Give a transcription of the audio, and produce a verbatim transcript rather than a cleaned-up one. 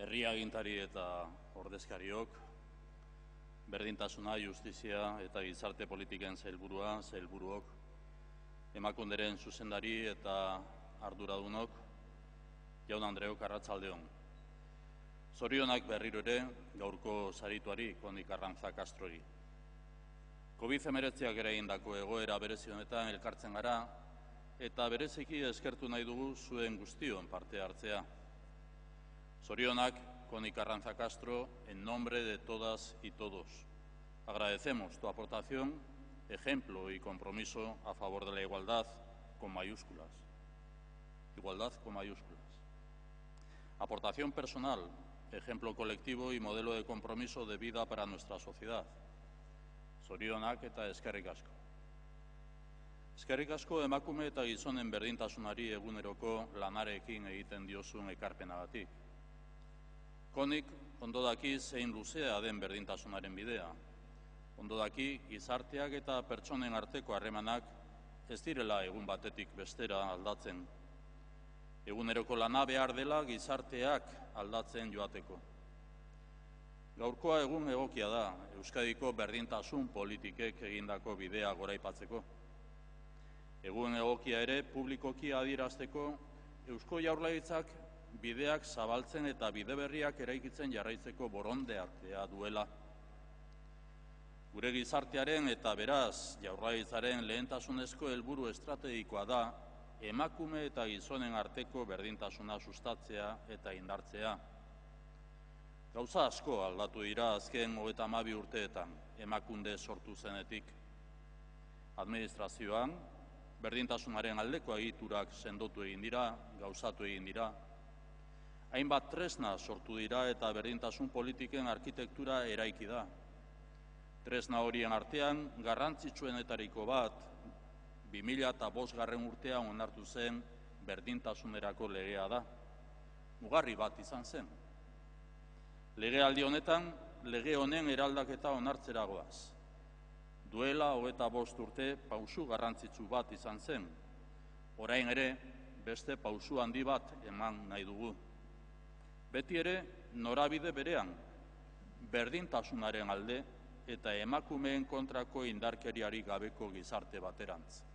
herri agintari eta ordezkariok, berdintasuna, justizia eta gizarte politiken sailburua, sailburuok, Emakunderen zuzendari eta arduradunok, jaun Andreok, arratsaldeon. Zorionak berriro ere gaurko sarituari, Koni Karranza Castrori. covid hemeretziak eragindako egoera berezi honetan elkartzen gara eta bereziki eskertu nahi dugu zuen guztion parte hartzea. Zorionak, Koni Karranza Castro, en nombre de todas y todos. Agradecemos tu aportación, ejemplo y compromiso a favor de la igualdad con mayúsculas. Igualdad con mayúsculas. Aportación personal, ejemplo colectivo y modelo de compromiso de vida para nuestra sociedad. Zorionak eta eskerrik asko. Eskerrik asko emakume eta gizonen berdintasunari eguneroko lanarekin egiten diozun ekarpenagatik. Konik ondo daki zein luzea den berdintasunaren bidea. Ondo daki gizarteak eta pertsonen arteko harremanak ez direla egun batetik bestera aldatzen. Eguneroko lana behar dela gizarteak aldatzen joateko. Gaurkoa egun egokia da Euskadiko berdintasun politikek egindako bidea goraipatzeko. Egun egokia ere publikoki adierazteko Eusko Jaurlaritzak bideak zabaltzen eta bide berriak eraikitzen jarraitzeko borondatea duela. Gure gizartearen eta beraz Jaurlaritzaren lehentasunezko helburu estrategikoa da emakume eta gizonen arteko berdintasuna sustatzea eta indartzea. Gauza asko aldatu dira azken hogeita hamabi urteetan Emakunde sortu zenetik. Administrazioan, berdintasunaren aldeko egiturak sendotu egin dira, gauzatu egin dira. Hainbat tresna sortu dira eta berdintasun politiken arkitektura eraiki da. Tresna horien artean, garrantzitsuenetariko bat, bi mila bostgarren urtean onartu zen berdintasunerako legea da. Mugarri bat izan zen. Legealdi honetan, lege honen eraldaketa onartzera goaz. Duela hogeita bost urte pausu garrantzitsu bat izan zen. Orain ere, beste pausu handi bat eman nahi dugu. Beti ere, norabide berean, berdintasunaren alde eta emakumeen kontrako indarkeriari gabeko gizarte baterantz.